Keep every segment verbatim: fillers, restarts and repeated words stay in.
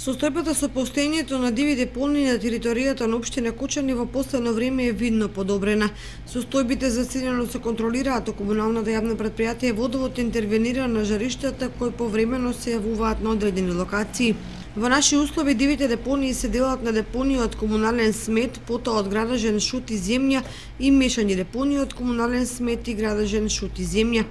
Состојбата со постоењето на диви депонии на територијата на општина Кочани во последно време е видно подобрена. Состојбите засилено се контролираат, а комуналната јавно претпријатие Водовод интервенира на жариштата кои повремено се јавуваат на одредени локации. Во наши услови дивите депонии се делат на депонии од комунален смет, потоа од градажен шут и земја и мешани депонии од комунален смет и градажен шут и земја.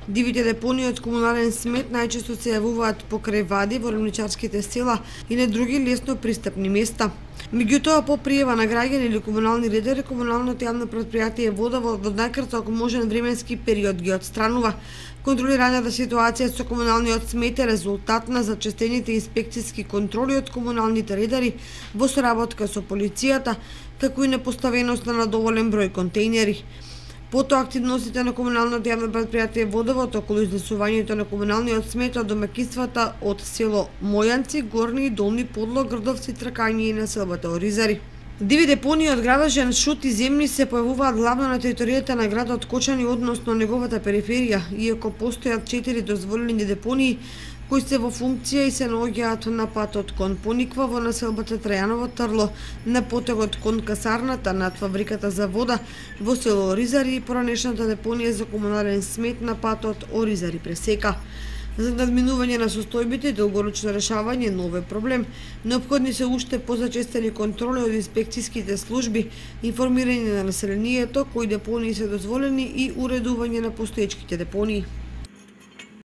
Дивите депонии од комунален смет најчесто се јавуваат покрај вади во ремничарските села и на други лесно пристапни места. Меѓутоа, по пријава на граѓани или комунални редари, комуналното јавно претпријатие Водовод во најкраток можен временски период ги отстранува. Контролираната ситуација со комуналниот смет е резултат на зачестените инспекцијски контроли од комуналните редари во соработка со полицијата, како и непоставеност на доволен број контејнери. Потоа активностите на комуналното јавно претпријатие Водовод околу изнесувањето на комуналниот смет од домаќинствата од село Мојанци, Горни и Долни Подлог, Грдовци, Тракање и населбата Оризари. Диви депонии од градажен шут и земји се појавуваат главно на територијата на градот Кочани, односно неговата периферија, иако постојат четири дозволени депонии кои се во функција и се наоѓаат на патот кон Пониква во населбата Трајаново Трло, на потегот кон касарната над фабриката за вода во село Оризари и поранешната депонија за комунален смет на патот Оризари Пресека. За надминување на состојбите и долгорочно решавање на овој проблем, неопходни се уште позачестени контроли од инспекцијските служби, информирање на населението кои депонии се дозволени и уредување на постоечките депонии.